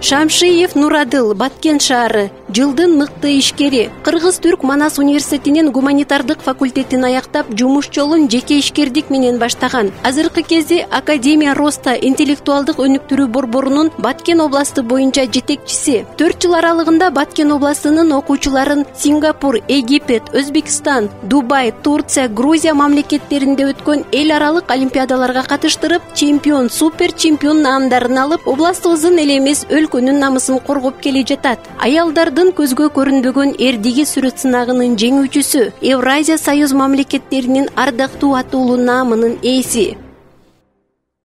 Шамшиев Нурадыл, Баткен шаары, жылдын мыкты ишкери. Кыргыз-түрк Манас университетинин гуманитардык факультетин аяктап, жумуш жолун жеке ишкердик менен баштаган. Азыркы кезде Академия Роста интеллектуалдык өнүктүрүү борборунун Баткен областы боюнча жетекчиси. 4 жыл аралыгында Баткен областынын окуучуларын Сингапур, Египет, Өзбекстан, Дубай, Турция, Грузия мамлекеттеринде өткөн эл аралык олимпиадаларга катыштырып, чемпион, супер чемпион наамдарын алып, областыбыздын эле эмес өлкөнүн намысын коргоп келе жатат. Аялдардын көзгө көрүнбөгөн эрдиги сүрөт сынагынын жеңүүчүсү, Евразия Союз мамлекеттеринин ардактуу атуулуу наамынын ээси.